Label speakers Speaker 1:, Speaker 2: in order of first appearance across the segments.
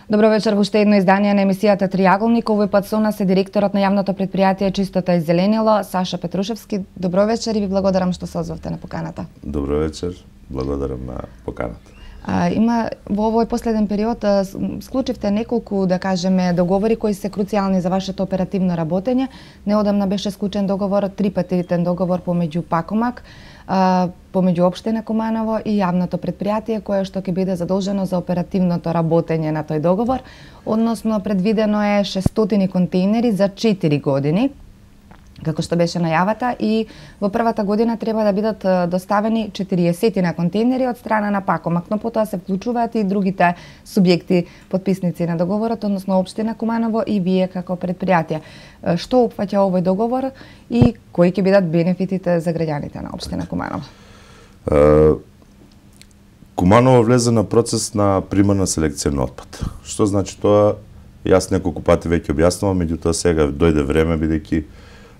Speaker 1: Добро вечер, во уште едно издание на емисијата Триаголник. Овој пат со нас е директорот на јавното предпријатие Чистота и зеленило, Саша Петрушевски. Добро вечер и ви благодарам што се озвавте на поканата.
Speaker 2: Добро вечер, благодарам на поканата.
Speaker 1: Има во овој последен период склучивте неколку, да кажеме, договори кои се круцијални за вашето оперативно работење. Неодамна беше склучен договор, трипатитен договор помеѓу Пакомак, помеѓу општина Куманово и јавното предпријатие кое што ќе биде задолжено за оперативното работење на тој договор, односно предвидено е 600 контейнери за 4 години, како што беше најавата, и во првата година треба да бидат доставени 40 на контейнери од страна на Пакомак, но потоа се вклучуваат и другите субјекти подписници на договорот, односно општина Куманово и вие како предпријатие. Што опфаќа овој договор и кои ќе бидат бенефитите за граѓаните на општина Куманово?
Speaker 2: Куманово влезе на процес на примарна селекција на отпад. Што значи тоа? Јас неколку пати веќе објаснувам, меѓутоа сега дојде време, бидејќи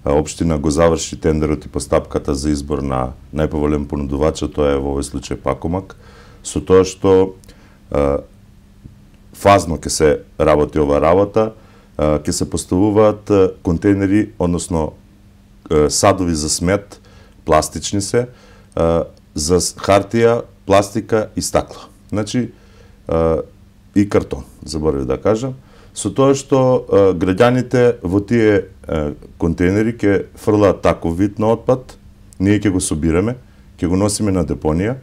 Speaker 2: општина го заврши тендерот и постапката за избор на најповолен понудувач, тоа е во овој случај Пакомак, со тоа што фазно ќе се работи ова работа, ќе се поставуваат контейнери, односно садови за смет, пластични се, за хартија, пластика и стакло. Значи, и картон, заборавив да кажам, со тоа што граѓаните во тие контейнери ќе фрлаат таков вид на отпад, ние ќе го собираме, ќе го носиме на депонија.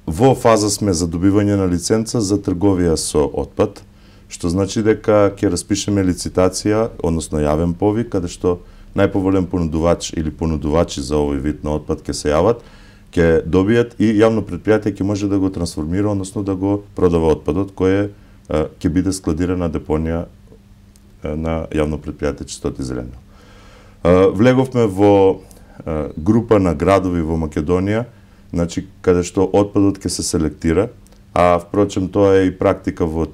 Speaker 2: Во фаза сме за добивање на лиценца за трговија со отпад, што значи дека ќе распишеме лицитација, односно јавен повик, каде што најповолен понудувач или понудувачи за овој вид на отпад ќе се јават, ќе добијат и јавно предпријатие ќе може да го трансформира, односно да го продава отпадот кој ќе биде складирана депонија на јавно предпријатие Чистота и зеленило. Влеговме во група на градови во Македонија, значи каде што отпадот ќе се селектира, а впрочем тоа е и практика во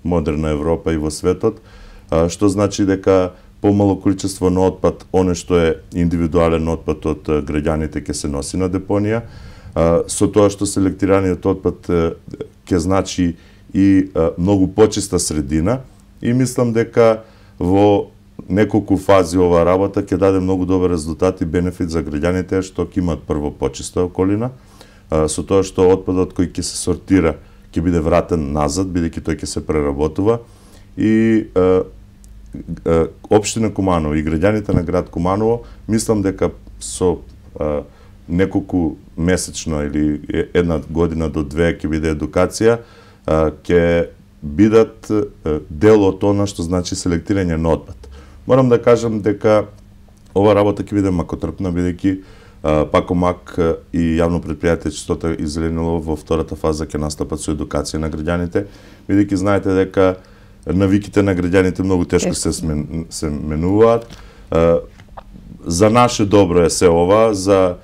Speaker 2: модерна Европа и во светот, што значи дека помало количество на отпад, оне што е индивидуален отпад од граѓаните ќе се носи на депонија, со тоа што селектираниот отпад ќе значи и многу почиста средина, и мислам дека во неколку фази ова работа ќе даде многу добар резултат и бенефит за граѓаните, што ќе имаат прво почиста околина, со тоа што отпадот кој ќе се сортира ќе биде вратен назад, бидејќи тој ќе се преработува, и општина Куманово и граѓаните на град Куманово, мислам дека со неколку месечно или една година до две ќе биде едукација, ќе бидат дел од она што значи селектирање на отпад. Морам да кажам дека ова работа ќе биде макотрпна, бидејќи Пакомак и јавно предпријатие Чистота и зеленило во втората фаза ќе настапат со едукација на граѓаните, бидејќи знаете дека навиките на граѓаните многу тешко се менуваат. За наше добро е се ова, за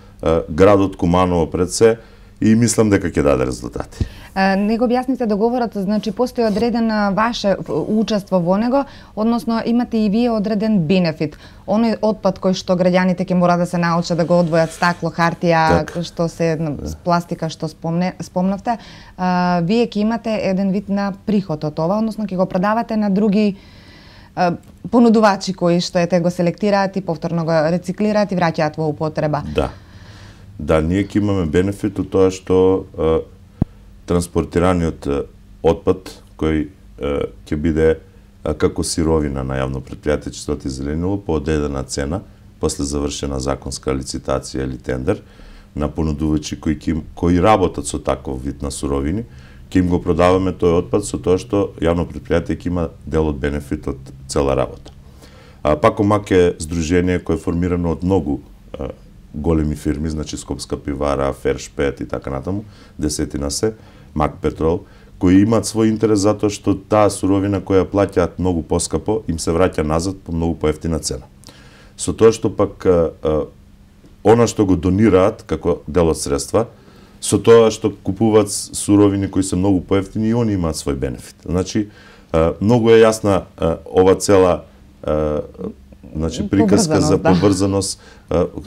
Speaker 2: градот Куманово пред се, и мислам дека ќе даде резултати.
Speaker 1: Не го објасните договорот, значи постои одреден ваше учество во него, односно имате и вие одреден бенефит. Оној отпад кој што граѓаните ќе мора да се научат да го одвојат, стакло, хартија, што се пластика што спомнавте, вие ќе имате еден вид на приход од ова, односно ќе го продавате на други понудувачи кои што го селектираат и повторно го рециклираат и враќаат во употреба.
Speaker 2: Да, ние ќе имаме бенефит од тоа што транспортираниот отпад кој ќе биде како сировина на јавно предпријатие Чистота и зеленило по одредена цена, после завршена законска лицитација или тендер, на понудувачи кои работат со таков вид на суровини, ќе им го продаваме тој отпад со тоа што јавно предпријатие ќе има дел од бенефит од цела работа. Пакомак е здружение кое е формирано од многу големи фирми, значи Скопска пивара, Фершпет и така натаму, десетина се, Мак Петрол, кои имаат свој интерес затоа што таа суровина која плаќаат многу поскапо, им се враќа назад по многу поевтина цена. Со тоа што пак она што го донираат како дел од средства, со тоа што купуваат суровини кои се многу поевтини, и они имаат свој бенефит. Значи, многу е јасна ова цела значи приказка за побрзаност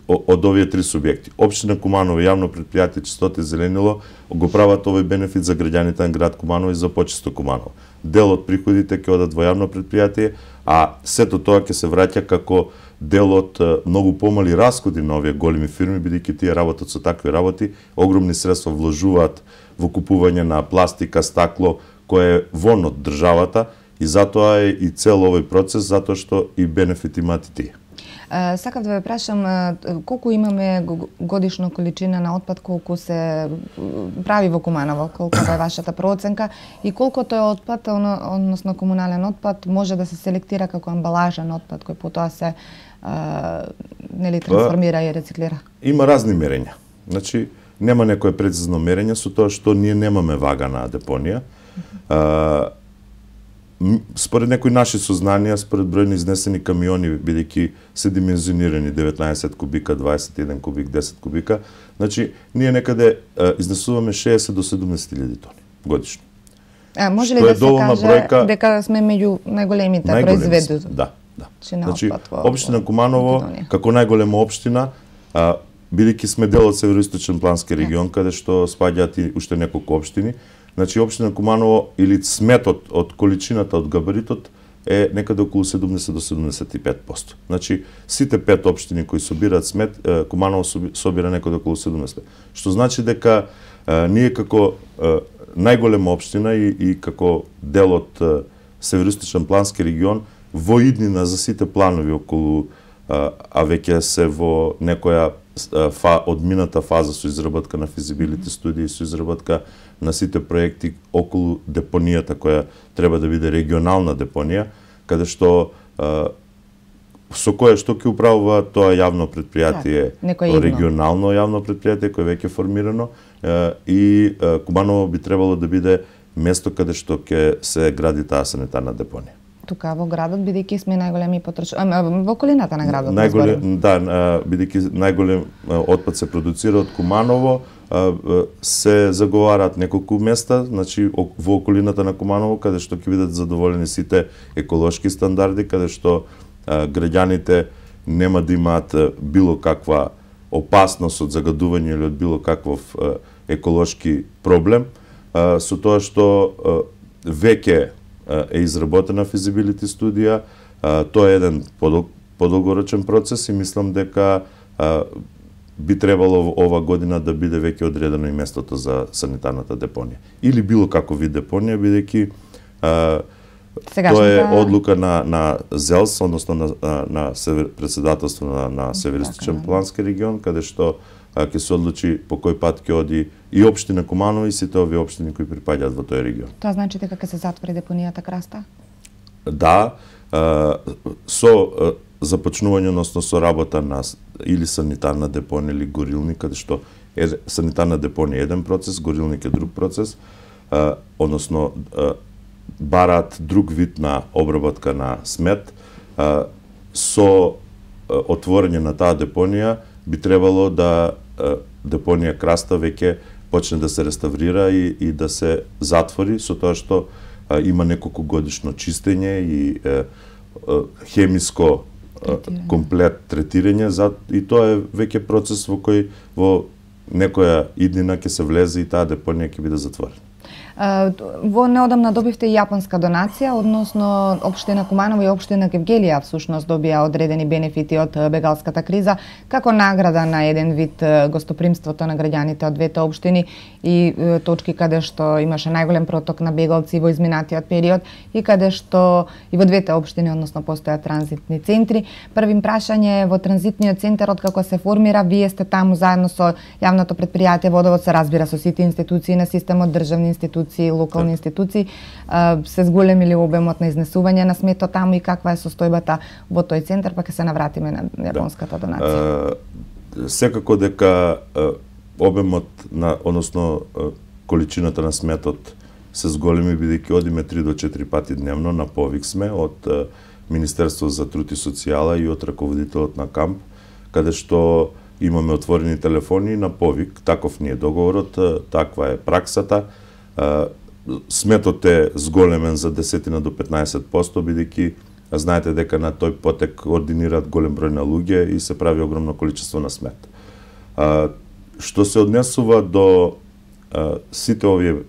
Speaker 2: од овие три субјекти. Општина Куманово, јавно претпријатие Чистота и зеленило го прават овој бенефит за граѓаните на град Куманово и за почисто Куманово. Дел од приходите ќе одат во јавно претпријатие, а сето тоа ќе се враќа како дел од многу помали расходи на овие големи фирми, бидејќи тие работат со такви работи, огромни средства вложуваат во купување на пластика, стакло, кое е вон од државата, и затоа е и цел овој процес, затоа што и бенефит имаат и тие.
Speaker 1: Сакав да ве прашам колку имаме годишно количина на отпад, колку се прави во Куманово, колку е вашата проценка и колку тој отпад, односно комунален отпад, може да се селектира како амбалажен отпад кој потоа се нели трансформира и рециклира? Има
Speaker 2: разни мерења. Значи нема некое прецизно мерење со тоа што ние немаме вагана депонија. Според некои наши сознанија, според бројни изнесени камиони, бидејќи се димензионирани 19 кубика, 21 кубик, 10 кубика, значи ние некаде изнесуваме 60 до 70.000 тони годишно.
Speaker 1: Може ли да се каже дека сме меѓу најголемите производители?
Speaker 2: Да. Значи, општина Куманово, како најголема општина, бидејќи сме дел од Североисточен плански регион, каде што спаѓаат и уште неколку општини, значи општина Куманово или сметот од количината од габаритот е некаде околу 70 до 75%. Значи сите 5 општини кои собираат смет, Куманово собира некаде околу 70%. Што значи дека ние како најголема општина и како дел од Североисточен плански регион во иднина за сите планови околу, а веќе се во некоја одмината фаза со изработка на физибилити студии, со изработка на сите проекти околу депонијата која треба да биде регионална депонија, каде што со кое што ќе управува тоа јавно претпријатие, регионално јавно претпријатие кое веќе формирано, и Куманово би требало да биде место каде што ќе се гради таа санитарна депонија.
Speaker 1: Тука во градот, бидејќи сме најголеми во околината на градот.
Speaker 2: Бидејќи најголем отпад се продуцира од Куманово, се заговараат неколку места, значи во околината на Куманово, каде што ќе бидат задоволени сите еколошки стандарди, каде што граѓаните нема да имаат било каква опасност од загадување или од било каков еколошки проблем, со тоа што веќе е изработена физибилити студија, тоа е еден подолгорочен процес и мислам дека би требало ова година да биде веќе одредено и местото за санитарната депонија. Или било како вид депонија, бидејќи тоа е одлука на ЗЕЛС, односно на председателство на Североисточен плански регион, каде што ќе се одлучи по кој пат ќе оди и општина Куманово и сите овие општини кои припаѓаат во тој регион.
Speaker 1: Тоа значи дека ќе се затвори депонијата Краста?
Speaker 2: Да, со започнување, односно со работа на или санитарна депонија или горилник, каде што санитарна депонија е еден процес, горилник е друг процес, односно бараат друг вид на обработка на смет, со отворање на таа депонија би требало да депонија Краста веќе почне да се реставрира и да се затвори, со тоа што има неколку годишно чистење и хемиско комплет третирање, и тоа е веќе процес во кој во некоја иднина ќе се влезе и таа депонија ќе биде затворена.
Speaker 1: Во неодамна добивте и јапонска донација, односно општина Куманово и општина Гевгелија всушност добија одредени бенефити од бегалската криза како награда на еден вид гостопримството на граѓаните од двете општини и точки каде што имаше најголем проток на бегалци во изминатиот период и каде што и во двете општини, односно постојат транзитни центри. Првим прашање, во транзитниот центар откако се формира, вие сте таму заедно со јавното претпријатие Водовод, се разбира со сите институции на системот, државни институции, локални институции, се зголемили обемот на изнесување на сметот таму и каква е состојбата во тој центар, па ќе се навратиме на јапонската донација.
Speaker 2: Секако дека обемот на, односно количината на сметот се зголеми, бидејќи одиме 3 до 4 пати дневно, на повик сме од Министерство за труд и социјала и од раководителот на камп, каде што имаме отворени телефони на повик, таков ни е договорот, таква е праксата. Сметот е зголемен за 10 до 15%, бидејќи Знаете дека на тој потек ординираат голем број на луѓе и се прави огромно количество на смет. Што се однесува до сите овие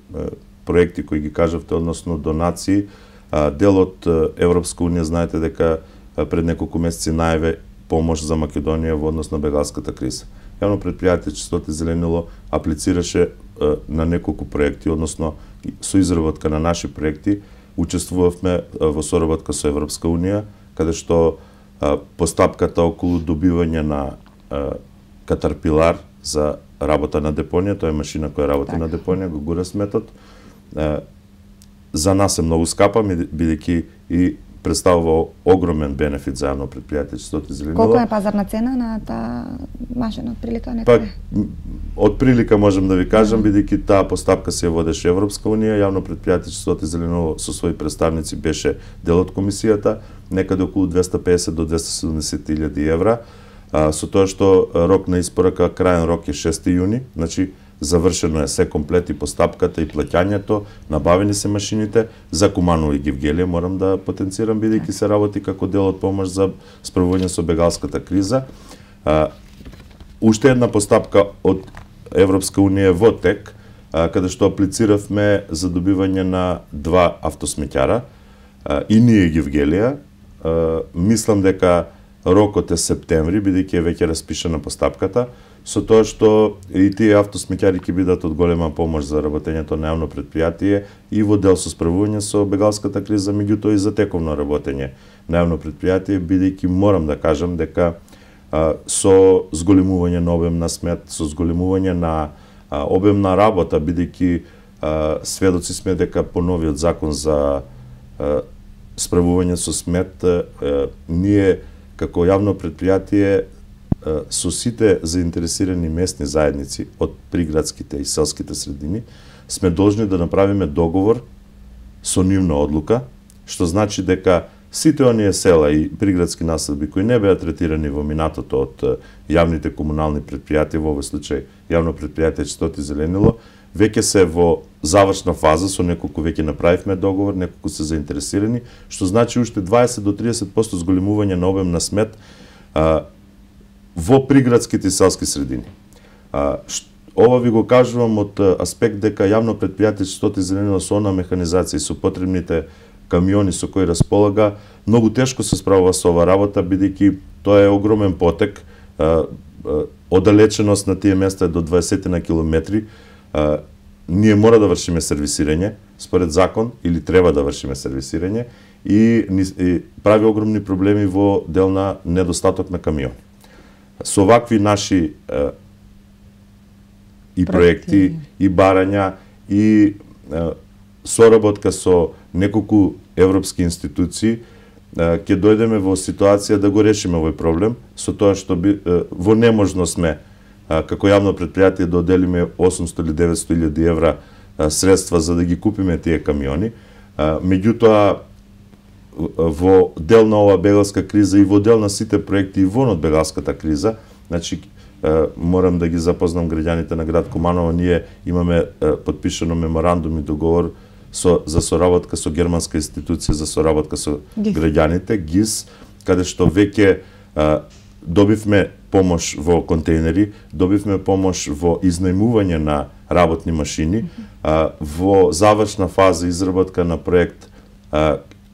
Speaker 2: проекти кои ги кажавте, односно донации, дел од Европска унија, знаете дека пред неколку месеци најаве помош за Македонија во однос на бегалската криза. Јавно претпријатие Чистота и зеленило аплицираше на неколку проекти, односно со изработка на наши проекти, учествувавме во соработка со Европска унија, каде што постапката околу добивање на катарпилар за работа на депонија, тоа е машина која работи на депонија, го гура сметот. За нас е многу скапа, бидејќи и представува огромен бенефит за јавно претпријатие Чистота и зеленило.
Speaker 1: Колку е пазарна цена на таа машина од прилика некаде?
Speaker 2: Од прилика можам да ви кажам, бидејќи таа постапка се водеше Европска унија, јавно претпријатие Чистота и зеленило со своји представници беше дел од комисијата, некаде околу 250 до 270.000 евра. Со тоа што рок на испорака, крајен рок е 6 јуни, значи завршено е се комплет и постапката и плаќањето, набавени се машините, за Куманово и Гевгелија морам да потенцирам, бидејќи се работи како дел од помош за справување со бегалската криза. Уште една постапка од Европска унија во тек, каде што аплициравме за добивање на 2 автосмеќара, и ние Гевгелија. Мислам дека рокот е септември, бидејќи е веќе распишана постапката, со тоа што и тие автосмеќари ќе бидат од голема помош за работењето на јавно претпријатие и во дел со справување со бегалската криза, меѓутоа и за тековно работење на јавно претпријатие, бидејќи морам да кажам дека со зголемување на обем на смет, со зголемување на обем на работа, бидејќи сведоци сме дека по новиот закон за справување со смет, ние како јавно претпријатие со сите заинтересирани местни заедници од приградските и селските средини сме должни да направиме договор со нивна одлука, што значи дека сите оние села и приградски населби кои не беа третирани во минатото од јавните комунални претпријатија, во овој случај јавно претпријатие Чистота и зеленило, веќе се во завршна фаза, со неколку веќе направивме договор, неколку се заинтересирани, што значи уште 20 до 30% зголемување на обем на смет во приградските и селски средини. Ова ви го кажувам од аспект дека јавно претпријатие Чистота и зеленило со она механизација и со потребните камиони со кои располага, многу тешко се справува со ова работа, бидејќи тоа е огромен потек, оддалеченост на тие места е до 20 на километри. Ние мора да вршиме сервисирање, според закон, или треба да вршиме сервисирање, и прави огромни проблеми во дел на недостаток на камиони. Со вакви наши и проекти, и барања, и соработка со неколку европски институции, ќе дојдеме во ситуација да го решиме овој проблем, со тоа што во неможност сме како јавно претпријатие да оделиме 800 или 900.000 евра средства за да ги купиме тие камиони. Меѓутоа, во дел на ова бегалска криза и во дел на сите проекти и вон од бегалската криза, значи морам да ги запознам граѓаните на град Куманово, ние имаме подпишано меморандум и договор за соработка со германска институција за соработка со граѓаните, ГИС, каде што веќе добивме помош во контейнери, добивме помош во изнајмување на работни машини, во завршна фаза изработка на проект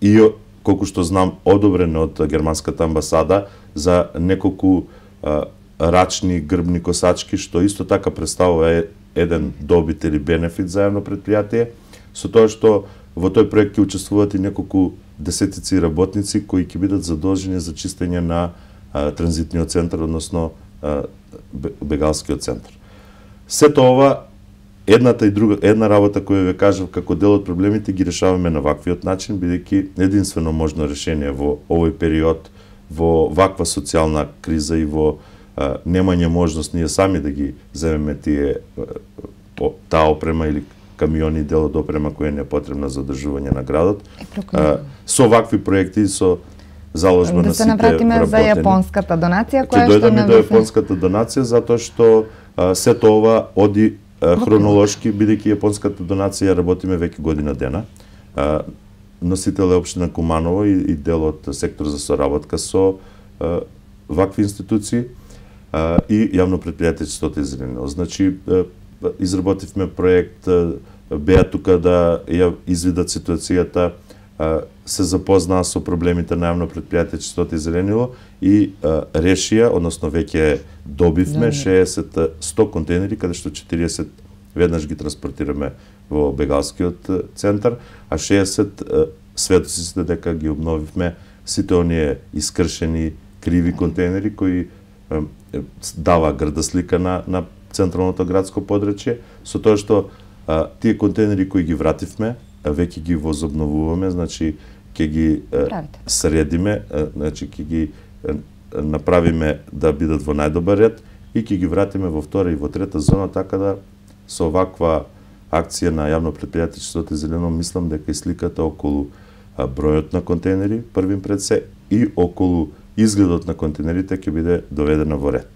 Speaker 2: и колку што знам одобрен од германската амбасада за неколку рачни грбни косачки, што исто така представува еден добит или бенефит за јавно претпријатие, со тоа што во тој проект ќе учествуваат и неколку десетици работници кои ќе бидат задолжени за чистење на транзитниот центар, односно бегалскиот центар. Сето ова, една работа која ве кажав како дел од проблемите ги решаваме на ваквиот начин, бидејќи единствено можно решение во овој период, во ваква социјална криза и во немање можност ние сами да ги земеме таа опрема или камиони, дел од опрема која не е потребна за одржување на градот. Со вакви проекти, со заложба на сите вработени.
Speaker 1: Да се навратиме за јапонската донација, која што
Speaker 2: дојдеме до јапонската донација, затоа што сето ова оди хронолошки, бидејќи јапонската донација работиме веќе година дена. носител е општина Куманово и дел од сектор за соработка со вакви институции и јавно предпријатие Чистота и зеленило. Значи, изработивме проект, беа тука да ја извидат ситуацијата, се запознаа со проблемите на јавно предпријатие Чистота и зеленило и решија, односно веќе добивме 60-100 контейнери, каде што 40 веднаш ги транспортираме во Бегалскиот центар, а 60 светоци се дека ги обновивме сите оние искршени, криви контейнери кои дава грда слика на централното градско подрачје, со тоа што тие контейнери кои ги вративме, веќе ги возобновуваме, значи ќе ги средиме, значи ќе ги направиме да бидат во најдобар ред и ќе ги вратиме во втора и во трета зона, така да со ваква акција на јавно предпријатие Чистота и зеленило мислам дека и сликата околу бројот на контейнери првим пред се и околу изгледот на контейнерите ќе биде доведена во ред.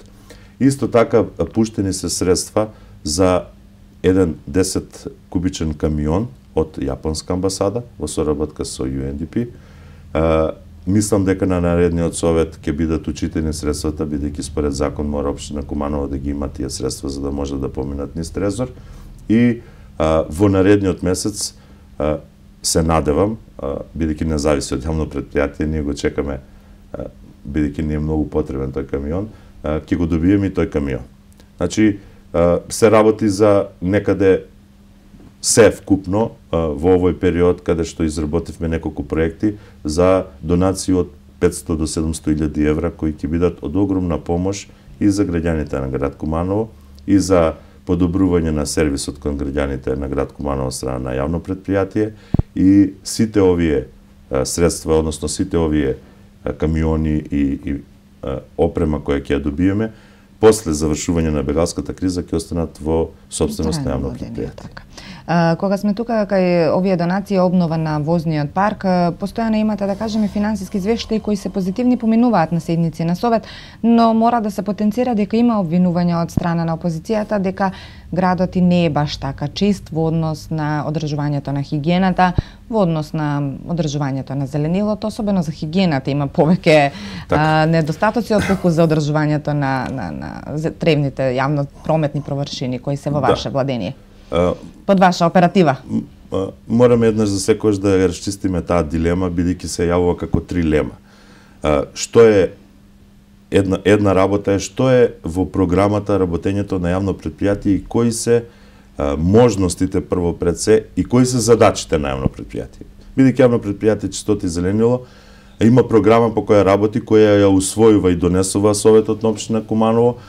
Speaker 2: Исто така пуштени се средства за еден 10 кубичен камион од Јапонска амбасада во соработка со UNDP. Мислам дека на наредниот совет ќе бидат учитени средствата, бидејќи според закон мора општина Куманово да ги има тие средства за да може да поминат низ трезор. И во наредниот месец се надевам, бидејќи не зависи од јавно предпријатие, ние го чекаме, бидејќи ни е многу потребен тој камион, ќе го добиеме и тој камион. Значи, се работи за некаде се вкупно во овој период каде што изработивме неколку проекти за донации од 500 до 700.000 евра кои ќе бидат од огромна помош и за граѓаните на град Куманово и за подобрување на сервисот кон граѓаните на град Куманово страна на јавно предпријатие и сите овие средства, односно сите овие камиони и опрема која ќе ја добиеме после завршување на бегалската криза ќе останат во сопственост на јавно предпријатие.
Speaker 1: Кога сме тука кај овие донации и обнова на возниот парк, постојано имате да кажеме финансиски извештаи кои се позитивни, поминуваат на седници на совет, но мора да се потенцира дека има обвинувања од страна на опозицијата дека градот и не е баш така чист во однос на одржувањето на хигиената, во однос на одржувањето на зеленилото, особено за хигиената има повеќе недостатоци отколку за одржувањето на тревните јавно прометни површини кои се во ваше владение. Под ваша оператива?
Speaker 2: Мораме еднаш за секојаш да ја расчистиме таа дилема, бидејќи се јавува како трилема. Што е една работа е што е во програмата работењето на јавно предпријатие и кои се можностите прво пред се и кои се задачите на јавно предпријатие. Бидејќи јавно предпријатие Чистота и зеленило има програма по која работи, која ја усвојува и донесува Советот на општина Куманово,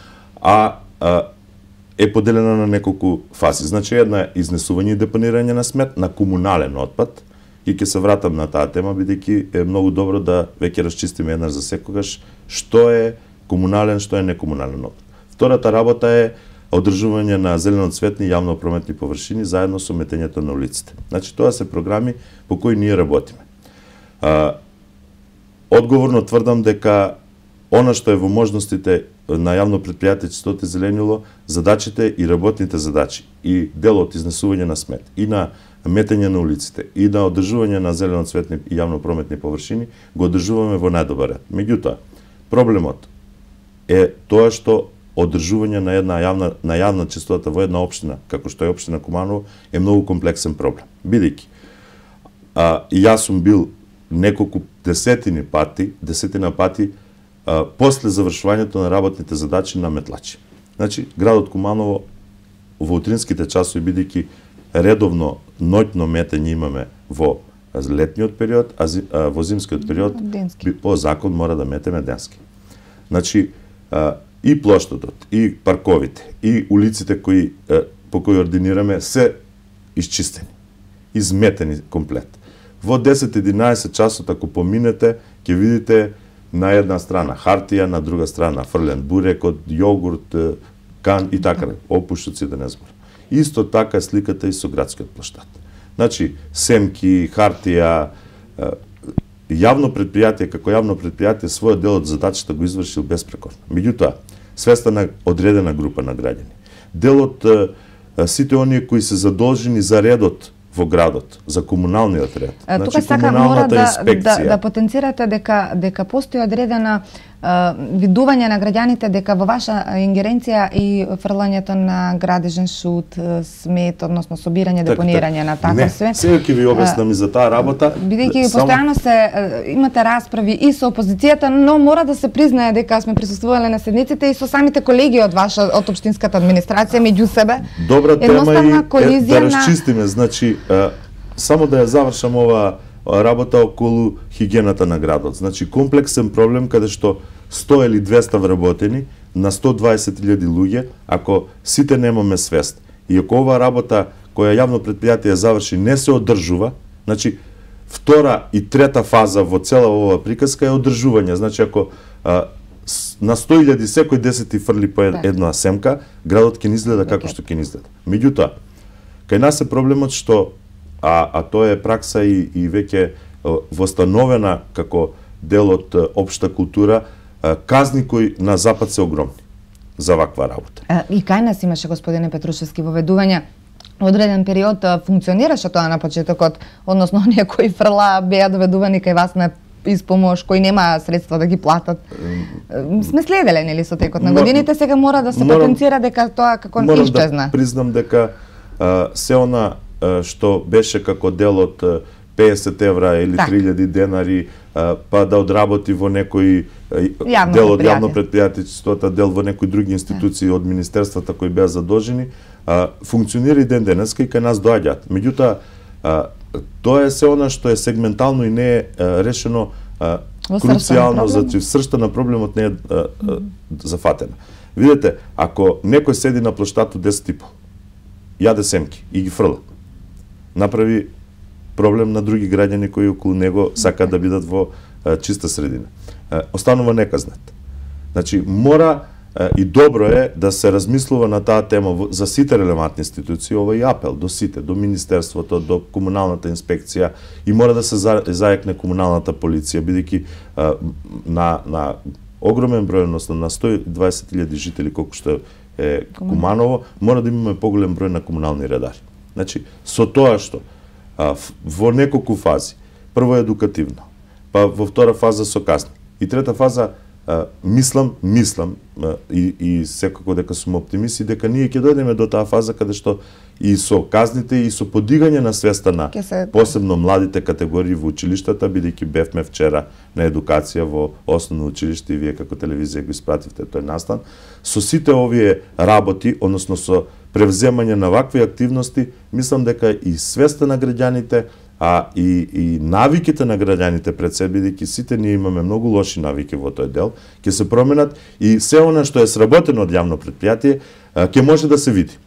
Speaker 2: е поделена на неколку фази. Значи, една е изнесување и депонирање на смет, на комунален отпад, и ќе се вратам на таа тема, бидејќи е многу добро да веќе расчистиме еднаш за секогаш што е комунален, што е некомунален отпад. Втората работа е одржување на зелено-цветни јавно прометни површини заедно со метењето на улиците. Значи, тоа се програми по кои ние работиме. Одговорно тврдам дека она што е во можностите на јавно предпријатие Чистота и зеленило, задачите и работните задачи и делот изнесување на смет и на метење на улиците и на одржување на зелено-цветни и јавно прометни површини го одржуваме во најдобар ред. Меѓутоа, проблемот е тоа што одржување на јавна чистота во една општина, како што е општина Куманово, е многу комплексен проблем. Бидејќи јас сум бил неколку десетина пати после завршувањето на работните задачи на метлачи. Значи, градот Куманово во утринските часови, бидејќи редовно ноќно метење имаме во летниот период, а во зимскиот период по закон мора да метеме денски. Значи, и плоштадот, и парковите, и улиците по кои ординираме се исчистени, изметени комплет. Во 10-11 часот, ако поминете, ќе видите на една страна хартија, на друга страна фрлен бурек од јогурт, кан и така, опуштоци да не зборам. Исто така е сликата и со градскиот плоштад. Значи, семки, хартија, јавно предпријатие како јавно предпријатие својот дел од задачата го извршил безпрекорно. Меѓутоа, свеста на одредена група на граѓани. Дел од сите оние кои се задолжени за редот во градот, за комуналниот ред.
Speaker 1: Тука сака мора да потенцирате дека постои одредена видување на граѓаните дека во ваша ингеренција и фрлањето на градежен шут, смет, односно собирање, депонирање на такво све.
Speaker 2: Не, сега ќе ви објаснам и за таа работа.
Speaker 1: Бидејќи постојано имате расправи и со опозицијата, но мора да се признае дека сме присуствувале на седниците и со самите колеги од од општинската администрација меѓу себе.
Speaker 2: Добра тема и да расчистиме, значи само да ја завршам ова работа околу хигиената на градот. Значи комплексен проблем каде што 100 или 200 вработени на 120.000 луѓе, ако сите немаме свест и ако оваа работа која јавно предпријатие заврши не се одржува, значи втора и трета фаза во цела оваа приказка е одржување. Значи ако на 100.000 секој 10 фрли по една семка, градот ќе ни изгледа како што ќе ни изгледа. Меѓутоа, кај нас е проблемот што тоа е пракса и веќе востановена како дел од општа култура, казни кои на запад се огромни за ваква работа.
Speaker 1: И кај нас имаше, господине Петрушевски, воведување одреден период функционираше тоа на почетокот, односно оние кои фрла беа доведувани кај вас на испомош, кои нема средства да ги платат. Сме следеле, нели, со текот на годините, сега мора да се потенцира дека тоа како исчезна.
Speaker 2: Морам да признам дека се она што беше како дел од 50 евра или 3000 денари, па да одработи во некој дел од јавно предпријатството, дел во некои други институции од министерствата кои беа задолжени, функционира и ден денеска и кај нас доаѓаат. Меѓутоа, тоа е се она што е сегментално и не е решено круцијално, значи сршта на проблемот не е зафатена. Видете, ако некој седи на плоштад од 10,5, јаде семки и ги фрла, направи проблем на други граѓани кои околу него сакаат да бидат во чиста средина. Останува неказнет. Значи, мора и добро е да се размислува на таа тема за сите релевантни институции, ова и апел до сите, до Министерството, до комуналната инспекција и мора да се зајакне комуналната полиција, бидејќи на огромен број, односно на 120.000 жители колку што е Куманово, мора да имаме поголем број на комунални редари. Значи, со тоа што во неколку фази, прво едукативно, па во втора фаза со казни. И трета фаза, мислам и секако дека сум оптимист и дека ние ќе дојдеме до таа фаза каде што и со казните и со подигање на свеста на посебно младите категории во училиштата, бидејќи бевме вчера на едукација во основно училиште и вие како телевизија го испративте тој настан, со сите овие работи, односно со превземање на вакви активности, мислам дека и свеста на граѓаните, и навиките на граѓаните пред се, бидејќи сите ние имаме многу лоши навики во тој дел, ќе се променат и се она што е сработено од јавно предпријатие ќе може да се види.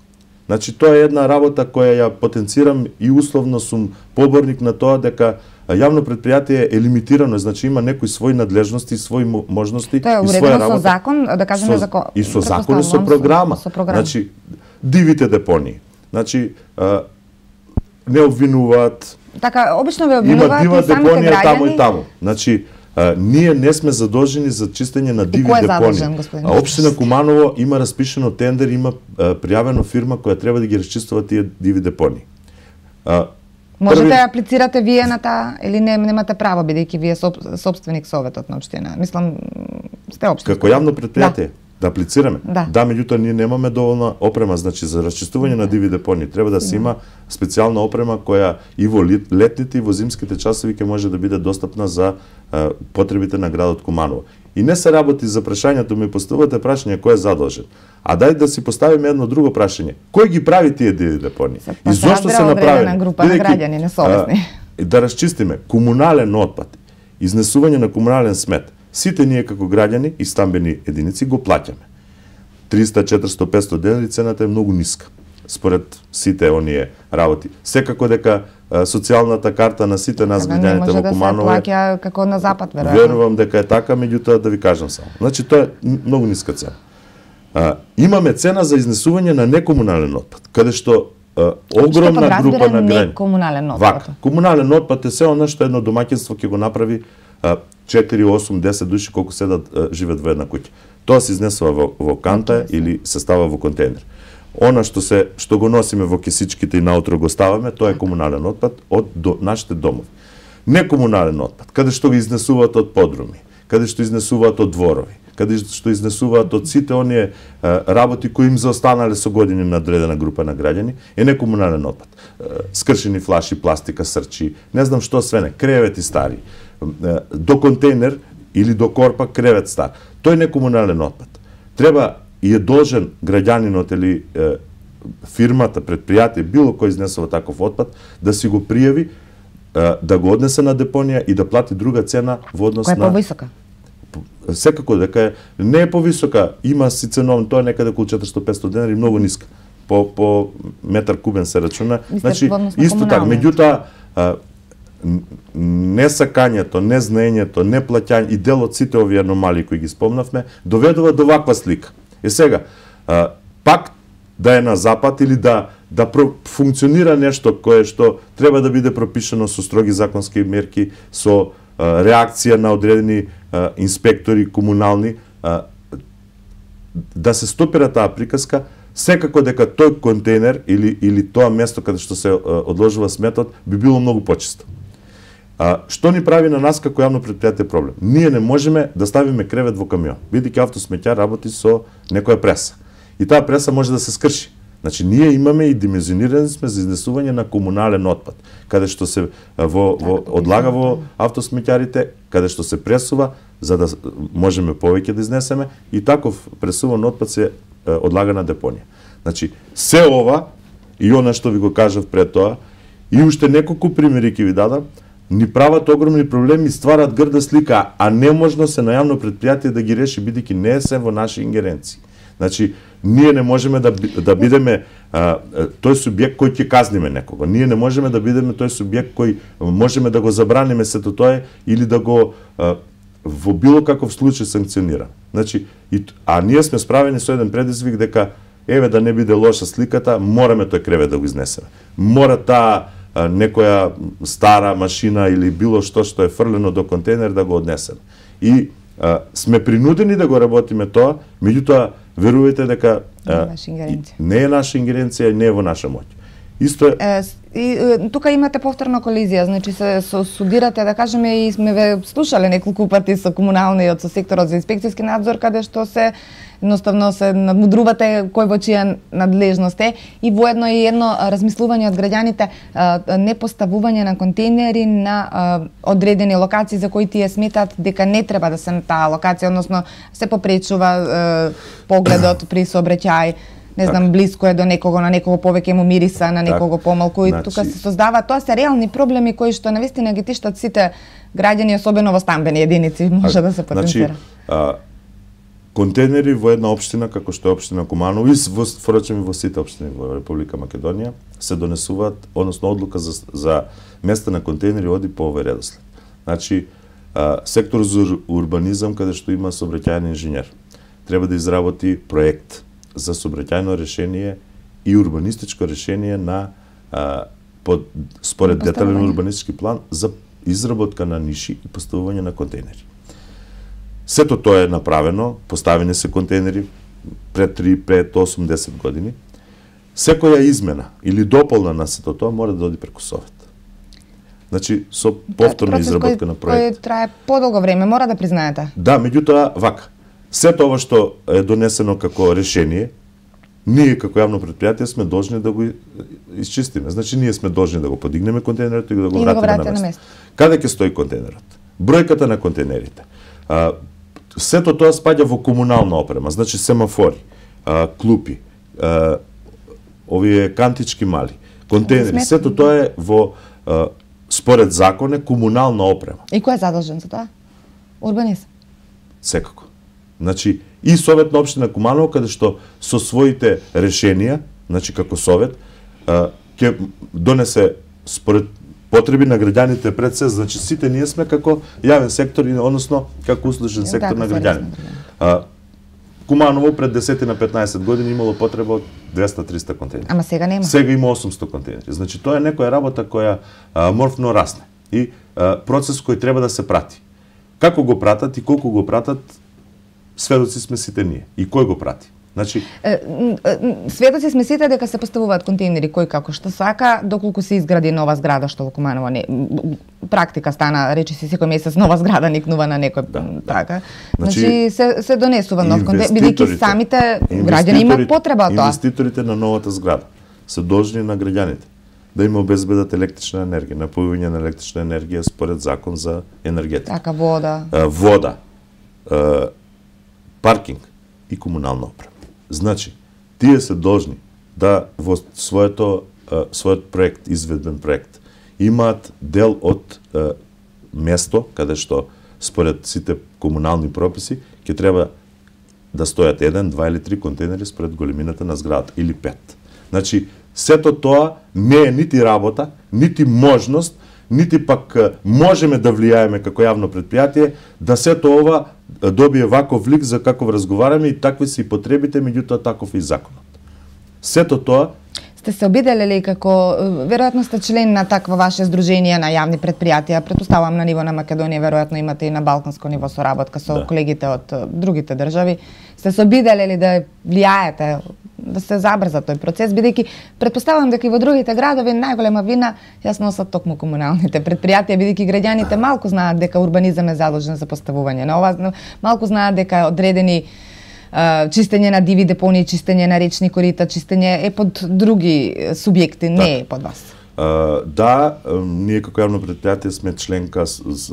Speaker 2: Значи, тоа е една работа која ја потенцирам и условно сум поборник на тоа дека јавно предпријатие е лимитирано, значи има некои своји надлежности, своји можности и своја работа.
Speaker 1: Тоа е уредено со закон, да кажеме закон.
Speaker 2: И со закон и со програма. Значи, дивите депонии. Значи, не обвинуваат.
Speaker 1: Така, обично ве обвинуваат и самите граѓани. Има дива депонија таму и таму. Значи, ние не сме задолжени за чистење на диви депонии. Општина Куманово има распишено тендер, има пријавено фирма која треба да ги расчистува тие диви депонии. Можете да аплицирате вие на таа или немате право, бидејќи вие сопственик советот на општина? Мислам, сте општина.
Speaker 2: Како јавно предпријатие? Да аплицираме. Да, меѓутоа ние немаме доволна опрема, значи за расчистување на диви депонии треба да се има специјална опрема која и во летните и во зимските часови ќе може да биде достапна за потребите на градот Куманово. И не се работи за прашањето, ми поставувате прашање кој е задолжен. А дај да си поставиме едно друго прашање. Кој ги прави тие диви депонии? И зошто се направени?
Speaker 1: Група на граѓани несовесни.
Speaker 2: Да расчистиме комунален отпад, изнесување на комунален смет. Сите ние како граѓани и стамбени единици го плаќаме. 300, 400, 500 денари, цената е многу ниска според сите оние работи. Секако дека социјалната карта на сите нас граѓаните во Куманово
Speaker 1: може да се плаќа како на запад, веројатно.
Speaker 2: Верувам дека е така, меѓутоа да ви кажам само. Значи тоа е многу ниска цена. Имаме цена за изнесување на некомунален отпад, каде што огромна група на граѓани.
Speaker 1: Некомунален отпад.
Speaker 2: Комунален отпад е се она што едно домаќинство ќе го направи 4, 8, 10 души колку седат живеат во една куќа. Тоа се изнесува во канта или се става во контейнер. она што го носиме во кесичките и наутро го ставаме, тоа е комунален отпад од нашите домови. Некомунален отпад, каде што го изнесуваат од подруми, каде што изнесуваат од дворови, каде што изнесуваат од сите оние работи кои им заостанале со години на одредена група на граѓани, е некомунален отпад. Скршени флаши, пластика, срчи, не знам што све не, кревети стари, до контейнер или до корпа кревет стар. Тој е некомунален отпад. Треба и е должен граѓанинот или фирмата, предпријатие, било кој изнесува таков отпад, да си го пријави, да го однесе на депонија и да плати друга цена во однос на...
Speaker 1: Која е повисока?
Speaker 2: Секако дека не е повисока, има си ценовно, тоа е некаде околу 400-500 денари, многу ниска. По метар кубен се рачуна. Значи, исто така, меѓутоа, несакањето, незнаењето, неплаќање и дел од сите овие аномалии кои ги спомнавме, доведува до ваква слика. Сега, пак да е на запад или да функционира нешто кое што треба да биде пропишано со строги законски мерки, со реакција на одредени инспектори комунални, да се стопира таа приказка, секако дека тој контейнер или тоа место каде што се одложува сметот би било многу почисто. Што ни прави на нас како јавно предпријатие проблем? Ние не можеме да ставиме кревет во камион, бидејќи автосметја работи со некоја преса. И таа преса може да се скрши. Значи, ние имаме и димензионирани сме за изнесување на комунален отпад, каде што се одлага во автосметјарите, каде што се пресува, за да можеме повеќе да изнесеме, и таков пресуван отпад се одлага на депонија. Значи, се ова, и она што ви го кажав пред тоа, и уште неколку примери ќе ви дадам, ни прават огромни проблеми и стварат грда слика, а неможно се на јавно предпријатие да ги реши, бидејќи не е се во наши ингеренции. Значи, ние не можеме да бидеме тој субјект кој ќе казниме некого. Ние не можеме да бидеме тој субјект кој можеме да го забраниме сето тоа или да го во било каков случај санкционира. Значи, а ние сме справени со еден предизвик дека еве да не биде лоша сликата, мораме тој кревет да го изнесеме. Мора таа некоја стара машина или било што е фрлено до контейнер да го однесеме. И сме принудени да го работиме тоа, меѓутоа верувајте дека не е наша ингеренција и не е во наша моќ. Исто е...
Speaker 1: И тука имате повторна колизија, значи се судирате, да кажеме, и сме ве слушале неколку пати со комуналниот, со секторот за инспекцијски надзор, каде што се едноставно се надмудрувате кој во чија надлежност е, и воедно и едно размислување од граѓаните, не поставување на контейнери на одредени локации за кои тие сметат дека не треба да се на таа локација, односно се попречува погледот при сообраќај. Не знам, блиско е до некого, на некого повеќе му мириса, на некого помалку, и тука се создава. Тоа се реални проблеми кои што навистина ги тиштат сите граѓани, особено во стамбени единици, може да се потенцира.
Speaker 2: Контейнери во една општина, како што е општина Куманово, и впрочем во сите општини во Република Македонија, се донесуваат, односно одлука за места на контейнери оди по овој редослед. Значи, сектор за урбанизам, каде што има сообраќајен инженер, треба да изработи проект за сообраќајно решение и урбанистичко решение на според детален урбанистички план за изработка на ниши и поставување на контейнери. Сето тоа е направено, поставени се контейнери пред 3, пред 8, 10 години. Секоја измена или дополна на сето тоа мора да оди преку Совет. Значи, со повторна изработка на проект.
Speaker 1: Кој трае подолго време, мора да признаете.
Speaker 2: Да, меѓутоа, вака. Сето ова што е донесено како решение, ние како јавно предпријатие сме должни да го исчистиме. Значи, ние сме должни да го подигнеме контейнерот и да го вратиме на место. Каде ќе стои контейнерот? Бројката на контейнерите. Сето тоа спаѓа во комунална опрема, значи семафори, клупи, овие кантички мали, контейнери, сето тоа е во според закон е комунална опрема.
Speaker 1: И кој е задолжен за тоа? Урбанизам.
Speaker 2: Секако. Значи, и Совет на општина Куманово, каде што со своите решенија, значи како Совет, ќе донесе според потреби на граѓаните пред се, значи сите ние сме како јавен сектор, односно како услужен сектор на граѓаните. Куманово пред 10 на 15 години имало потреба од 200-300 контейнери.
Speaker 1: Ама сега нема.
Speaker 2: Сега има 800 контейнери. Значи тоа е некоја работа која морфно расне и процес кој треба да се прати. Како го пратат и колку го пратат, сведоци сме сите ние. И кој го прати? Значи
Speaker 1: светоци сме сите дека се поставуваат контейнери кој како што сака, доколку се изгради нова зграда, што во Куманово не практика стана, речи се секој месец нова зграда никнува на некој така. Значи се донесува нов контейнер, бидејќи самите граѓани имаат потреба од тоа.
Speaker 2: Инвеститорите на новата зграда се должни на граѓаните да им обезбедат електрична енергија, напојување на електрична енергија според закон за енергетика.
Speaker 1: Така, вода.
Speaker 2: Вода, паркинг и комунална опрема. Значи, тие се должни да во својот проект, изведбен проект, имаат дел од место каде што според сите комунални прописи ќе треба да стојат 1, 2 или 3 контейнери според големината на зградата или 5. Значи, сето тоа не е нити работа, нити можност, нити пак можеме да влијаеме како јавно предпријатие да сето ова добие ваков лик за каков разговараме и такви се и потребите, меѓутоа таков и законот. Сето тоа
Speaker 1: Сте се обиделе како, веројатно сте член на таква ваше здружение на јавни предпријатија, претпоставувам на ниво на Македонија, веројатно имате и на балканско ниво соработка со колегите од другите држави. Сте се обиделе да влијаете, да се забрза тој процес, бидејќи претпоставувам дека и во другите градови најголема вина ја носат токму комуналните предпријатија, бидејќи граѓаните малку знаат дека урбанизам е задолжен за поставување на ова, малку знаат дека одредени чистење на диви депонии, чистење на речни корита, чистење е под други субјекти, не е под вас.
Speaker 2: Да, ние како јавно предпријатие сме членка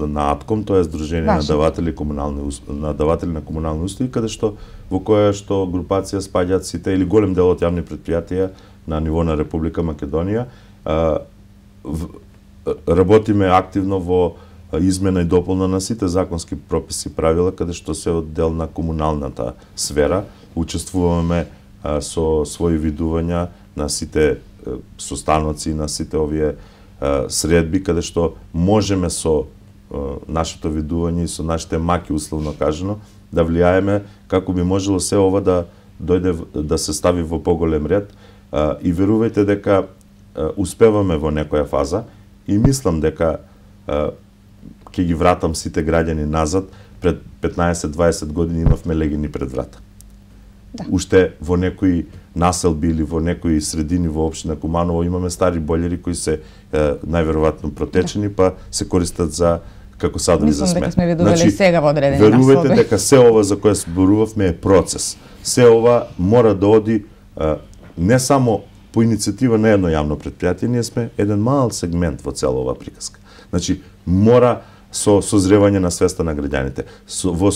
Speaker 2: на АТКОМ, тоа е Здружение на даватели на комунални услуги, каде што во која што групација спаѓаат сите или голем дел од јавни предпријатија на ниво на Република Македонија. Работиме активно во измена и дополна на сите законски прописи и правила каде што се од дел на комуналната сфера. Учествуваме со своји видувања на сите состаноци, на сите овие средби каде што можеме со нашето видување и со нашите маки условно кажано да влијаеме како би можело се ова да дојде да се стави во поголем ред и верувајте дека успеваме во некоја фаза и мислам дека ќе ги вратам сите граѓани назад. Пред 15-20 години имавме легини пред врата. Да. Уште во некои населби или во некои средини во општина Куманово имаме стари бољери кои се најверојатно протечени, па се користат за како садови за смет.
Speaker 1: Мислам дека сме видували сега во одредени
Speaker 2: населби. Верувате дека се ова за кое зборувавме е процес. Се ова мора да оди не само по иницијатива на едно јавно предпријатие, ние сме еден мал сегмент во цела оваа приказка. Значи, мора со созревање на свеста на граѓаните, во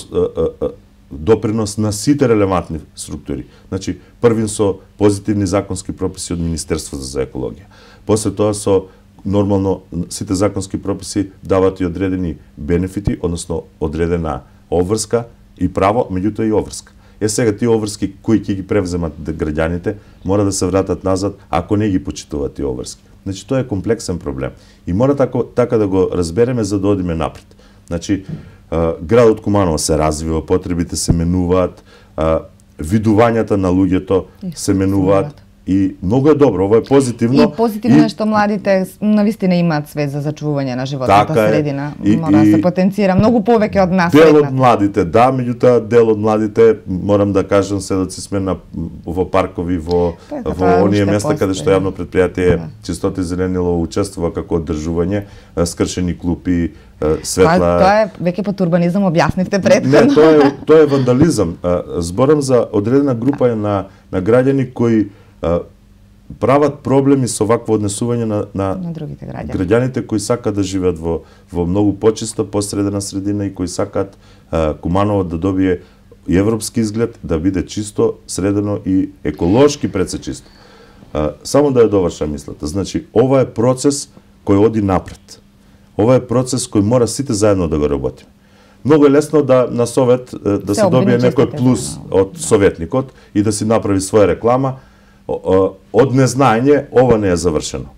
Speaker 2: допринос на сите релевантни структури. Значи, првин со позитивни законски прописи од Министерството за екологија. После тоа со нормално сите законски прописи дават и одредени бенефити, односно одредена обврска и право, меѓутоа и обврска. Сега тие обврски кои ќе ги превземат граѓаните мора да се вратат назад ако не ги почитуваат тие обврски. Значи тоа е комплексен проблем и мора така да го разбереме за да одиме напред. Значи градот Куманово се развива, потребите се менуваат, видувањата на луѓето се менуваат и многу е добро, ова е позитивно.
Speaker 1: И позитивно е што младите навистина имаат свест за зачувување на животната средина. Мора да се потенцира многу повеќе од нас.
Speaker 2: Дел од младите, да, меѓутоа дел од младите, морам да кажам, седоци сме во паркови, во оние места каде што јавно предпријатие Чистота и зеленило учествува како одржување, скршени клупи, светла.
Speaker 1: Тоа е веќе под урбанизам, објаснивте претходно.
Speaker 2: Не, тоа е вандализам. Зборам за одредена група на граѓани кои прават проблеми со вакво однесување на
Speaker 1: другите граѓани.
Speaker 2: Граѓаните кои сакаат да живеат во многу почиста, посредена средина и кои сакаат Куманово да добие и европски изглед, да биде чисто, средено и еколошки пред се чисто. Само да ја довршам мислата. Значи, ова е процес кој оди напред. Ова е процес кој мора сите заедно да го работиме. Многу е лесно да на совет да се добие некој плюс од советникот и да си направи своја реклама. Од незнаење ова не е завршено.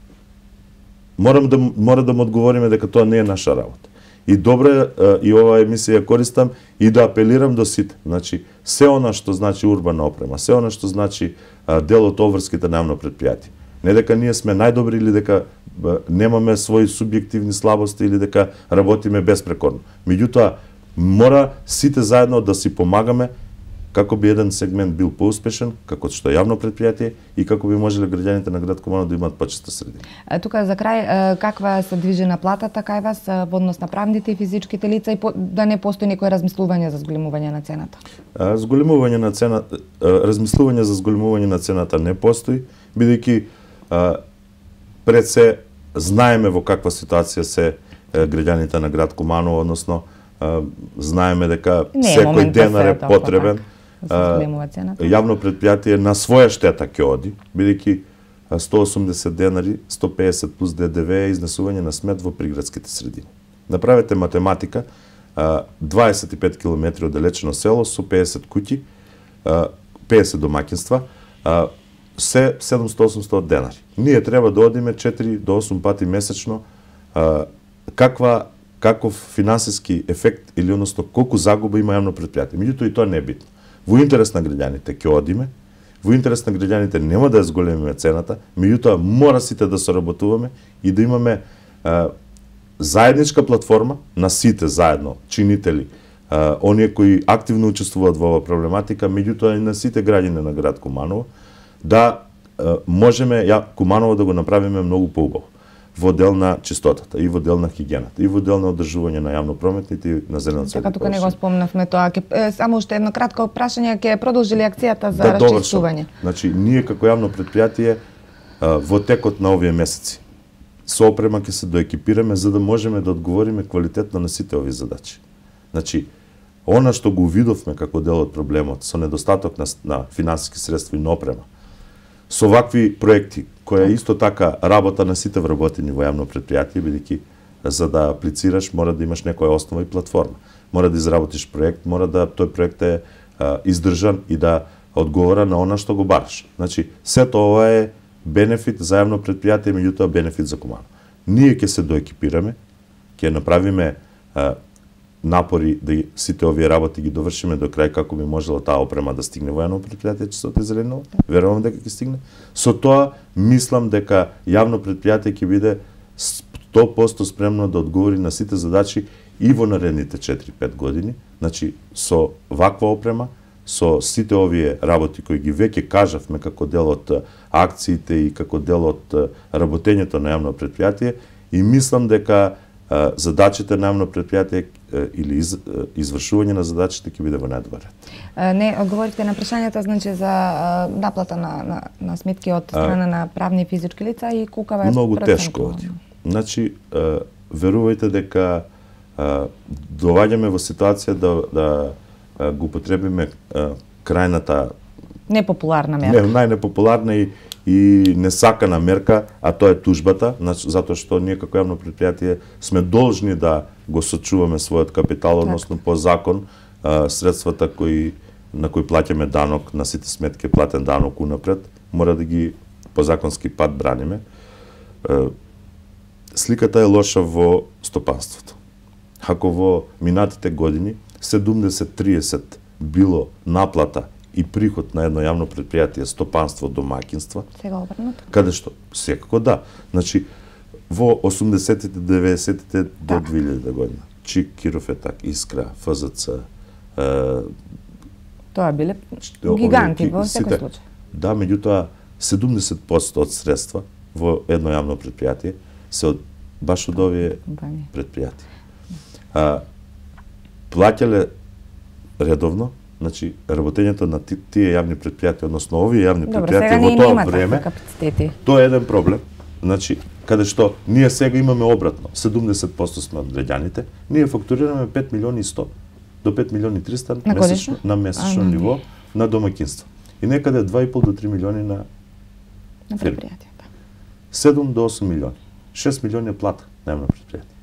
Speaker 2: Мора да му одговориме дека тоа не е наша работа. И добро е и оваа емисија користам и да апелирам до сите. Значи, се она што значи урбана опрема, се она што значи дел од обврските на јавно предпријатие. Не дека ние сме најдобри или дека немаме своји субјективни слабости или дека работиме безпрекорно. Меѓутоа, мора сите заедно да си помагаме како би еден сегмент бил поуспешен, како што е јавно предпријатие и како би можеле граѓаните на град Куманово да имаат почиста средина.
Speaker 1: Тука за крај, каква се движена платата кај вас во однос на правните и физичките лица и да не постои некое размислување за зголемување на цената?
Speaker 2: Зголемување на цената, размислување за зголемување на цената не постои, бидејќи пред се знаеме во каква ситуација се граѓаните на град Куманово, односно знаеме дека секој денар е потребен. Јавно предпријатие на своја штета ќе оди, бидејќи 180 денари, 150 плюс ДДВ е изнесување на смет во приградските средини. Направете математика, 25 км оддалечено село со 50 куќи, 50 домаќинства, се 700-800 денари. Ние треба да одиме 4 до 8 пати месечно. Каков финансиски ефект или односно колку загуба има јавно предпријатие. Меѓутоа и тоа не е битно. Во интерес на граѓаните ќе одиме, во интерес на граѓаните нема да ја зголемиме цената, меѓутоа мора сите да соработуваме и да имаме заедничка платформа на сите заедно, чинители, оние кои активно учествуваат во оваа проблематика, меѓутоа и на сите граѓани на град Куманово, да можеме Куманово да го направиме многу поубаво во дел на чистотата, и во дел на хигиената, и во дел на одржување на јавно-прометните и на зелената среда.
Speaker 1: Така тука не го спомнавме тоа. Само уште едно кратко прашање, ќе продолжи ли акцијата за расчистување?
Speaker 2: Значи, ние како јавно предпријатие во текот на овие месеци со опрема ќе се доекипираме за да можеме да одговориме квалитетно на сите овие задачи. Значи, она што го видовме како дел од проблемот со недостаток на финансиски средства и на опрема, со вакви проекти, која исто така работа на сите вработени во јавно предпријатие, бидејќи за да аплицираш мора да имаш некоја основа и платформа. Мора да изработиш проект, мора да тој проект е издржан и да одговора на она што го бараш. Значи, сето ова е бенефит за јавно предпријатие, меѓутоа бенефит за Куманово. Ние ќе се доекипираме, ќе направиме напори да сите овие работи ги довршиме до крај како би можела таа опрема да стигне во јавно предпријатие Чистота и зелениот. Верувам дека ќе стигне. Со тоа мислам дека јавно предпријатие ќе биде 100% спремно да одговори на сите задачи и во наредните 4-5 години. Значи со ваква опрема, со сите овие работи кои ги веќе кажавме како дел од акциите и како дел од работењето на јавно предпријатие, и мислам дека задачите на јавно предпријатие или извршување на задачите ќе биде во најдобар ред.
Speaker 1: Не одговорите на прашањето, значи за наплата на сметки од страна на правни и физички лица и колкава е
Speaker 2: многу тешко оди. Значи верувајте дека доваѓаме во ситуација да го употребиме крајната
Speaker 1: непопуларна мерка.
Speaker 2: Најнепопуларна и несакана мерка, а тоа е тужбата, затоа што ние како јавно предпријатие сме должни да го сочуваме својот капитал, односно по закон средствата на кои плаќаме данок, на сите сметки платен данок унапред, мора да ги по законски пат браниме. Сликата е лоша во стопанството. Ако во минатите години 70-30 било наплата и приход на едно јавно предпријатие, стопанство, домаќинства.
Speaker 1: Сега обрнато?
Speaker 2: Каде што? Секако да. Значи, во 80-тите, 90-тите до 2000 година. ЧИК, Кирофетак, Искра, ФЗЦ.
Speaker 1: Тоа биле гиганти во секој случај.
Speaker 2: Да, меѓутоа 70% од средства во едно јавно предпријатие се баш од овие предпријатија. Плаќале редовно, значи работењето на тие јавни предпријатија, односно овие јавни предпријатија во тоа време, тоа е еден проблем. Значи, каде што ние сега имаме обратно, 70% сме од граѓаните, ние фактурираме 5 милиони 100 до 5 милиони 300 месечно, на месечно ниво на домаќинство. И некаде 2,5 до 3 милиони на
Speaker 1: предпријатија.
Speaker 2: 7 до 8 милиони. 6 милиони е плата на јавно предпријатие.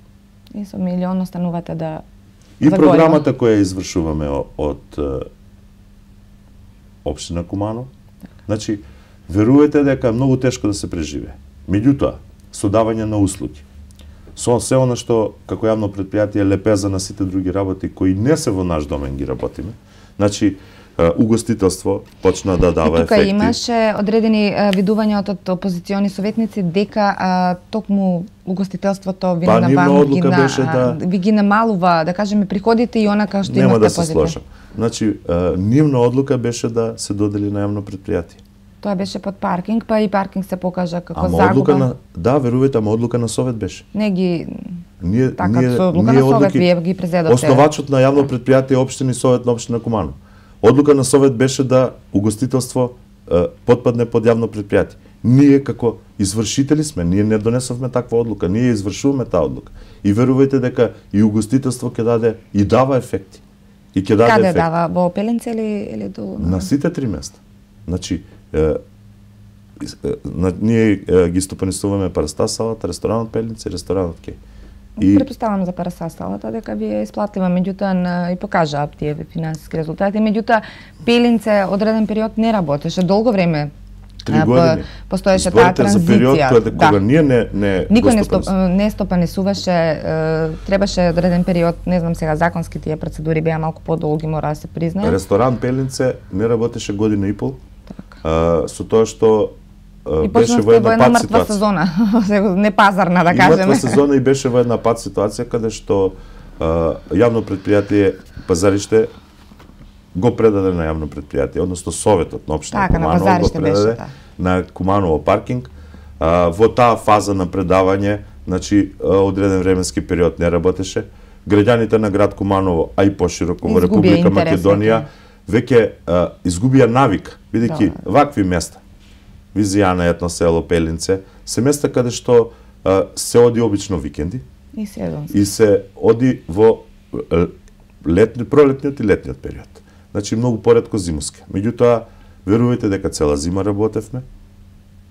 Speaker 1: И со милион останувате да
Speaker 2: и програмата која извршуваме од општина Куманово, значи верувајте дека е многу тешко да се преживее. Меѓутоа, со давање на услуги, со се она што како јавно предпријатие лепеза на сите други работи кои не се во наш домен ги работиме, значи угостителство почна да дава ефекти.
Speaker 1: Тука имаше одредени видувања од опозициони советници дека токму угостителството ви ви ги намалува, да кажеме, приходите и онака што имате позитивно.
Speaker 2: Нема да се сложам. Значи, нивна одлука беше да се додели на јавно предпријатие.
Speaker 1: Тоа беше под паркинг, па и паркинг се покажа како загуба.
Speaker 2: Да, верувате, ама одлука на совет беше.
Speaker 1: Не ги така со одлука на совет вие ги презедовте.
Speaker 2: Основачот на јавно предпријатие општини совет на општина Куманово. Одлука на совет беше да угостителство потпадне под јавно предпријатие. Ние како извршители сме, ние не донесовме таква одлука, ние извршуваме таа одлука. И верувајте дека и угостителство ќе даде и дава ефекти. И ќе даде
Speaker 1: Каде
Speaker 2: ефекти.
Speaker 1: дава? Во Пеленце или до
Speaker 2: На сите 3 места. Значи ние ги стопанисуваме Парастас салата, ресторанот Пеленце и ресторанот Кеј.
Speaker 1: И претпоставам за Парастас салата дека ви е исплатива, меѓутоа и покажаа тие финансиски резултати, меѓутоа Пеленце одреден период не работеше долго време.
Speaker 2: 3 години.
Speaker 1: Постоеше таа транзиција.
Speaker 2: За период кога ние не
Speaker 1: никој не стопанисуваше, требаше одреден период, не знам сега законски тие процедури беа малку подолги, мора да се признае.
Speaker 2: Ресторан Пеленце не работеше година и пол.
Speaker 1: Така.
Speaker 2: Со тоа што беше
Speaker 1: во една мртва сезона, не пазарна, да кажеме.
Speaker 2: Мртва сезона и беше во една пат ситуација каде што јавно предпријатие Пазариште го предаде на јавно предпријатие, односно советот на општина Куманово го предаде на Куманово паркинг. Во таа фаза на предавање, значи одреден временски период не работеше. Граѓаните на град Куманово, а и пошироко во Република Македонија веќе изгубија навик, бидејќи вакви места, Визијана, етно село, Пеленце, се места каде што се оди обично викенди и се оди во пролетниот и летниот период. Значи многу поретко зимуски. Меѓутоа, верувајте дека цела зима работевме,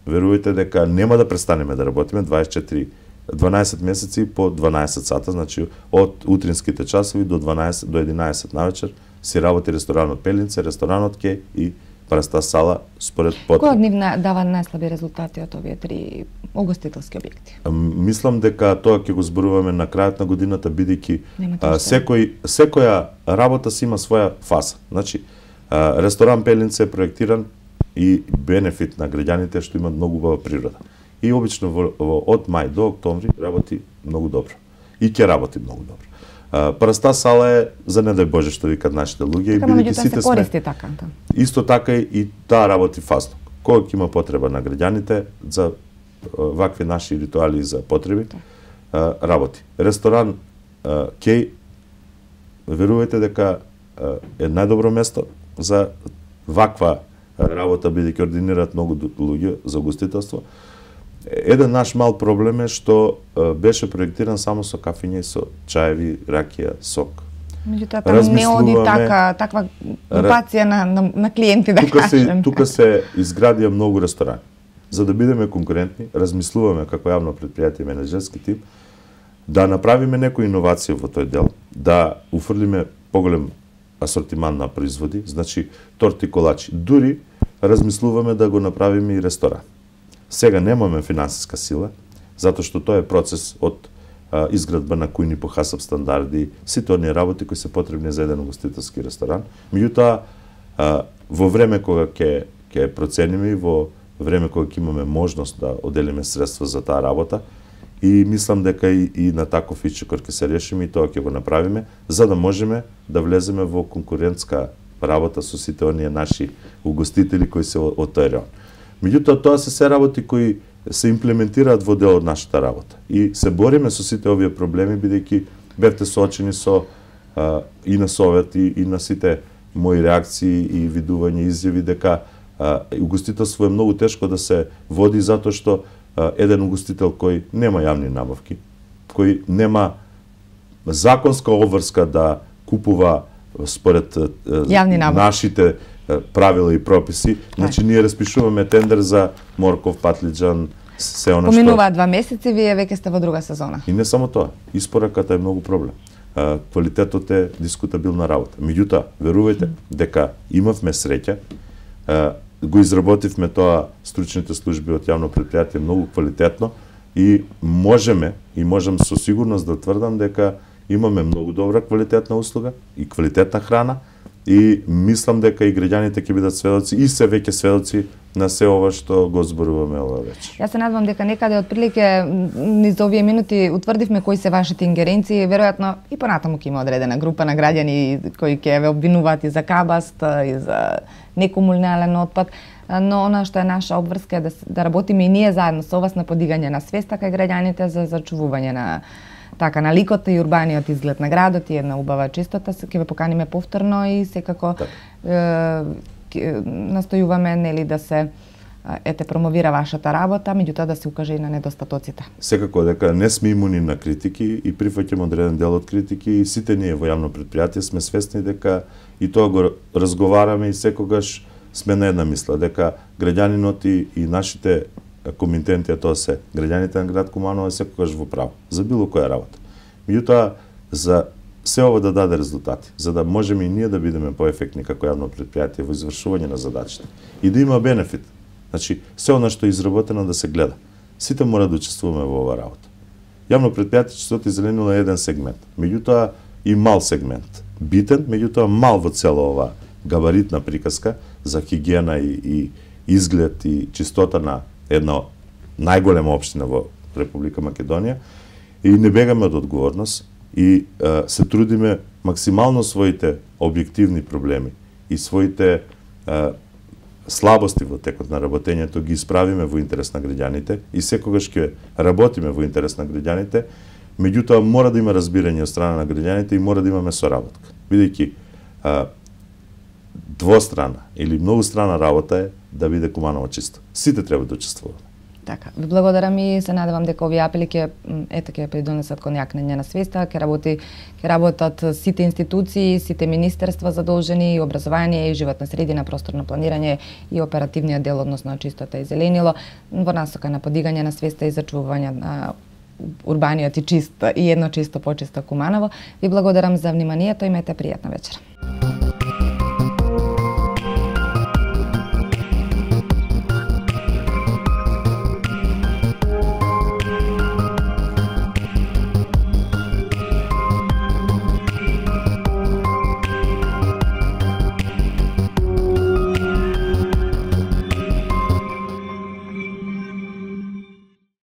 Speaker 2: верувајте дека нема да престанеме да работиме 12 месеци по 12 сата, значи од утринските часови до 12 до 11 навечер си работи ресторанот Пеленце, ресторанот Кеј и Парастас сала според потреби.
Speaker 1: Кој од нив дава најслаби резултати од овие 3 угостителски објекти?
Speaker 2: Мислам дека тоа ќе го зборуваме на крајот на годината, бидејќи секоја работа си има своја фаза. Значи, ресторан Пеленце е проектиран и бенефит на граѓаните што имаат многу убава природа. И обично од мај до октомври работи многу добро. И ќе работи многу добро. Парастас сала е за не дај Боже што викат нашите луѓе, и бидејќи сите сме
Speaker 1: користи така.
Speaker 2: Исто така и таа работи фазно. Кога ќе има потреба на граѓаните за вакви наши ритуали за потреби, работи. Ресторан Кеј, верувајте дека е најдобро место за ваква работа, бидејќи ординираат многу луѓе за угостителство. Еден наш мал проблем е што беше проектиран само со кафење и со чаеви, ракија, сок.
Speaker 1: Меѓутоа таму не оди таква групација на клиенти, да кажем.
Speaker 2: Тука се изградија многу ресторани. За да бидеме конкурентни, размислуваме како јавно предпријатие менеджерски тип да направиме некои иновации во тој дел, да уфрлиме поголем асортиман на производи, значи торти, колачи. Дури размислуваме да го направиме и ресторан. Сега немаме финансиска сила, затоа што тоа е процес од изградба на кујни по ХАСАП стандарди, сите оние работи кои се потребни за еден угостителски ресторан. Меѓутоа, во време кога ќе процениме и во време кога ќе имаме можност да оделиме средства за таа работа, и мислам дека и на таков ичекор ќе се решиме и тоа ќе го направиме, за да можеме да влеземе во конкурентска работа со сите оние наши угостители кои се од тој район. Меѓутоа, тоа се работи кои се имплементираат во дел од нашата работа. И се бориме со сите овие проблеми, бидејќи бевте соочени со и на совет и на сите мои реакции и видувања изјави дека угостителство е многу тешко да се води затоа што еден угостител кој нема јавни набавки, кој нема законска обврска да купува според нашите правила и прописи, значи ние распишуваме тендер за морков, патлиџан, се она што...
Speaker 1: Поминуваат 2 месеци, вие веќе сте во друга сезона.
Speaker 2: И не само тоа, испораката е многу проблем. Квалитетот е дискутабилна работа. Меѓутоа, верувајте дека имавме среќа, го изработивме тоа стручните служби од јавно предпријатие многу квалитетно и можам со сигурност да тврдам дека имаме многу добра квалитетна услуга и квалитетна храна и мислам дека и граѓаните ќе бидат сведоци и се веќе сведоци на се ова што го зборуваме ова вечер.
Speaker 1: Јас се надевам дека некаде отприлике низ овие минути утврдивме кои се вашите ингеренции, веројатно и понатаму ќе има одредена група на граѓани кои ќе ве обвинуваат и за кабаст, и за некомунален отпад, но она што е наша обврска е да работиме и ние заедно со вас на подигање на свеста кај граѓаните за зачувување на на ликот и урбаниот изглед на градот и една убава чистота. Ќе ве поканиме повторно и секако настојуваме нели да се промовира вашата работа, меѓутоа да се укаже и на недостатоците.
Speaker 2: Секако дека не сме имуни на критики и прифаќаме одреден дел од критики и сите ние во јавно предпријатие сме свесни дека и тоа го разговараме и секогаш сме на една мисла дека граѓанинот и нашите комитенти, тоа се граѓаните на град Куманово секогаш во право за било која работа. Меѓутоа за се ова да даде резултати, за да можеме и ние да бидеме поефектни како јавно предпријатие во извршување на задачите и да има бенефит. Значи, се она што е изработено да се гледа. Сите мора да учествуваме во ова работа. Јавно предпријатие Чистотата и зеленило е еден сегмент, меѓутоа и мал сегмент. Битен, меѓутоа мал во цела ова габаритна приказка за хигиена и изглед и чистота на една најголема општина во Република Македонија и не бегаме од одговорност и се трудиме максимално своите објективни проблеми и своите слабости во текот на работењето ги исправиме во интерес на граѓаните и секогаш ќе работиме во интерес на граѓаните, меѓутоа мора да има разбирање од страна на граѓаните и мора да имаме соработка. Бидејќи двострана или многустрана работа е да биде Куманово чисто. Сите треба да учествуваат.
Speaker 1: Така, ви благодарам и се надевам дека овие апели ќе придонесат кон јакнење на свеста, ќе работат сите институции, сите министерства задолжени, и образование, и животна средина, просторно планирање и оперативниот дел, односно чистота и зеленило, во насока на подигање на свеста и зачувување на урбаниот и едно чисто почисто Куманово. Ви благодарам за вниманието, имајте пријатна вечер.